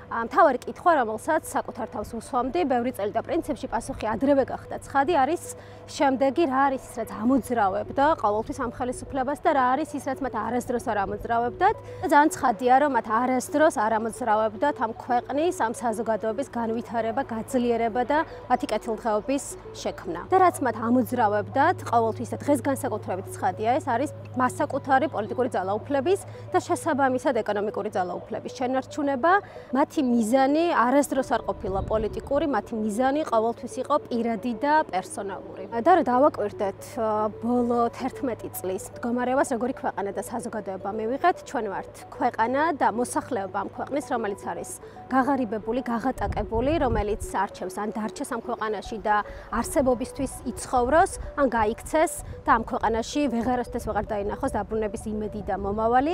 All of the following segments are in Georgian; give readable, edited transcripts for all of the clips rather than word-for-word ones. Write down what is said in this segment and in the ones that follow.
მთავარი კითხვა, რომელსაც საკუთარ თავს უსვამდი, ბევრი წელი და პრინციპში პასუხი ადრევე გახდა ცხადი, არის შემდეგი, რა არის ის, რაც ამოძრავებდა ყოველთვის ამ ხელისუფლებას და რა არის ის, რაც მათ არასდროს არ ამოძრავებდათ. ძალიან ცხადია, რომ მათ არასდროს არ ამოძრავებდათ ამ ქვეყნის, ამ საზოგადოების განვითარება, გაძლიერება და მათი კეთილდღეობის შექმნა. და რაც მათ ამოძრავებდათ, ყოველთვის და დღეს განსაკუთრებით ცხადია, ეს არის მასაკუთარი პოლიტიკური ძალაუფლების და შესაბამისად ეკონომიკური ძალაუფლების შენარჩუნება. მათი მიზანი არასდროს არ ყოფილა პოლიტიკური, მათი მიზანი ყოველთვის იყო პირადი და პერსონალური. და რა დავაკვირდეთ ბოლო 11 წლის მდგომარეობას, როგორი ქვეყანა და საზოგადოება მივიღეთ, ჩვენ ვართ ქვეყანა და მოსახლეობა ამ ქვეყნის, რომელიც არის გაღარიბებული, გაღატაკებული, რომელიც არჩევს ან დარჩეს ამ ქვეყანაში და არსებობისთვის იცხოვროს, ან გაიქცეს და ამ ქვეყანაში ვეღარასდროს ვეღარ დაინახოს დაბრუნების იმედი და მომავალი.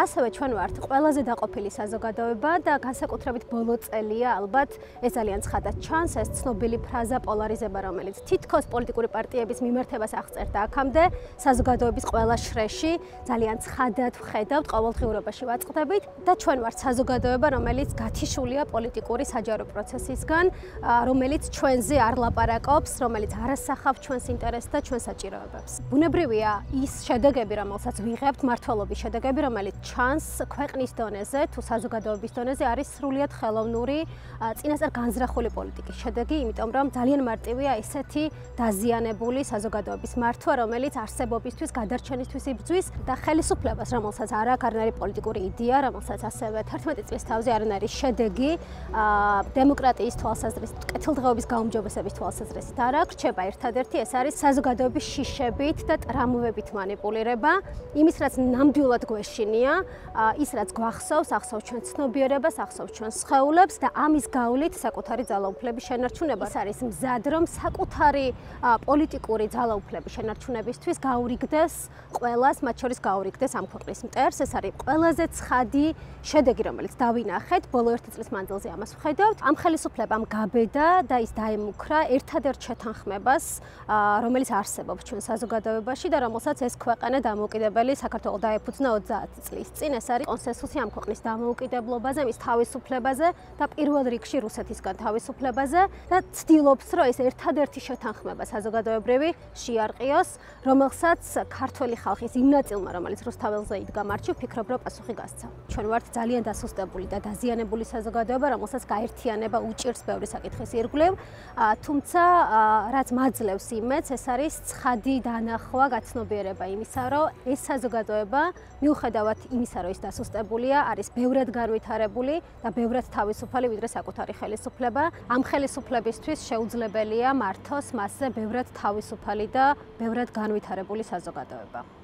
ასევე ჩვენ ვართ ყველაზე დაყოფილი საზოგადოება და განსაკუთრებით ბოლო წელია ალბათ ეს ძალიან ცხადად ჩანს, ეს ცნობილი ფრაზა პოლარიზება, რომელიც თითქოს პოლიტიკური პარტიების მიმართებას აღწერდა აქამდე, საზოგადოების ყველა შრეში ძალიან ცხადად ვხედავთ, ყოველდღიურობაში ვაწყდებით და ჩვენ ვართ საზოგადოება, რომელიც გათიშულია პოლიტიკური საჯარო პროცესისგან, რომელიც ჩვენზე არ ლაპარაკობს, რომელიც არ ასახავს ჩვენს ინტერესს და ჩვენს საჭიროებებს. ბუნებრივია ის შედეგები, რომელსაც ვიღებთ, მმართველობის შედეგები, რომელიც ჩანს ქვეყნის დონეზე თუ საზოგადოების დონეზე, არის სრულიად ხელოვნური, წინასწარ განზრახული პოლიტიკის შედეგი, იმიტომ რომ ძალიან მარტივია ესეთი დაზიანებული საზოგადოების მართვა, რომელიც არსებობისთვის, გადარჩენისთვის იბრძვის და ხელისუფლებას, რომელსაც არ აქვს არანაირი პოლიტიკური იდეა, რომელსაც ასევე 11 წლის თავზე არანაირი შედეგი დემოკრატიის თვალსაზრისით, კეთილდღეობის გაუმჯობესების თვალსაზრისით არ აქვს, რჩება ერთადერთი, ეს არის საზოგადოების შიშებით და ტრამვებით მანიპულირება, იმის რაც ნამდვილად გვეშინია, ის რაც გვახსოვს, ახსოვს ჩვენ ცნობიერებას, ახსოვს ჩვენ სხეულებს და ამის გავლით საკუთარი ძალაუფლების შენარჩუნება. ეს არის მზად, რომ საკუთარი პოლიტიკური ძალაუფლების შენარჩუნებისთვის გაურიგდეს ყველას, მათ შორის გაურიგდეს ამ ქვეყნის მტერს. ეს არის ყველაზე ცხადი შედეგი, რომელიც დავინახეთ ბოლო 1 წლის მანძილზე ამას ვხედავთ. ამ ხელისუფლებამ გაბედა და ის დაემუქრა ერთადერთ შეთანხმებას, რომელიც არსებობს ჩვენ საზოგადოებაში და რომელსაც ეს ქვეყანა დამოუკიდებელი საქართველოს დაეფუძნა 30 წლის წინ. ეს არის კონსენსუსი ამ ქვეყნის დამოუკიდებლობაზე, მის თავისუფლებაზე და პირველ რიგში რუსეთისგან თავისუფლებაზე და ცდილობს, რომ ეს ერთადერთი შეთანხმება საზოგადოებრივი შეარყიოს, რომელსაც ქართველი ხალხის იმ ნაწილმა, რომელიც რუსთაველზე იდგა მარჩი, ვფიქრობ, რომ პასუხი გასცა. ჩვენ ვართ ძალიან დასუსტებული და დაზიანებული საზოგადოება, რომელსაც გაერთიანება უჭირს ბევრი საკითხის ირგვლივ, თუმცა რაც მაძლევს იმედს, ეს არის ცხადი დანახვა, გაცნობიერება იმისა, რომ ეს საზოგადოება, მიუხედავად იმისა, რომ ის დასუსტებულია, არის ბევრად განვითარებული და ბევრად თავისუფალი, ვიდრე საკუთარი ხელისუფლება. ამ ხელისუფლებისთვის შეუძლებელია მართოს მასზე ბევრად თავისუფალი და ბევრად განვითარებული საზოგადოება.